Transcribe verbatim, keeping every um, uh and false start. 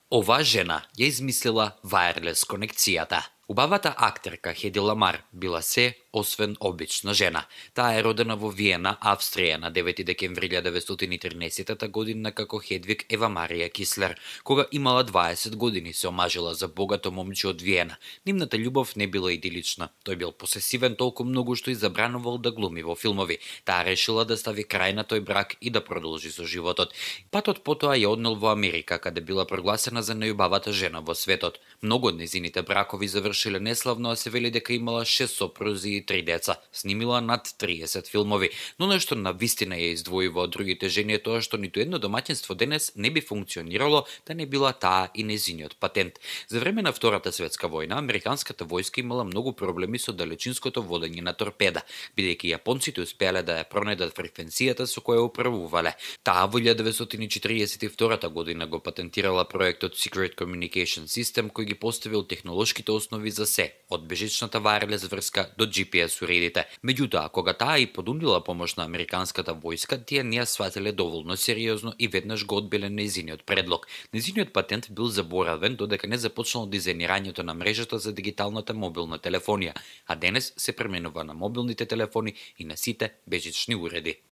Оваа жена ја измислила вајрлес конекцијата. Убавата актерка Хеди Ламар била се освен обична жена. Таа е родена во Виена, Австрија на девети декември илјада деветстотини и тринесета година како Хедвиг Ева Марија Кислер. Кога имала дваесет години се омажила за богато момче од Виена. Нивната љубов не била идилична. Тој бил посесивен толку многу што и забранувал да глуми во филмови. Таа решила да стави крај на тој брак и да продолжи со животот. Патот потоа ја однел во Америка, каде била прогласена за најубавата жена во светот. Многу од незините бракови завршиле неславно, а се вели дека имала шест сопрузи и три деца. Снимила над триесет филмови, но нешто на вистина ја издвојува од другите жени е тоа што ниту едно домаќинство денес не би функционирало да не била таа и незиниот патент. За време на Втората светска војна американската војска имала многу проблеми со далечинското водење на торпеда, бидејќи јапонците успеале да ја пронедат фреквенцијата со која управувале. Таа во илјада деветстотини и четиридесет и втора година го патентирала проектот Secret Communication System, кој ги поставил технолошките основи за се, од бежичната вајрлес врска до џи пи ес уредите. Меѓутоа, кога таа и понудила помош на американската војска, тие не ја сватиле доволно сериозно и веднаш го одбиле нејзиниот предлог. Нејзиниот патент бил заборавен додека не започнало дизајнирањето на мрежата за дигиталната мобилна телефонија, а денес се пременува на мобилните телефони и на сите бежични уреди.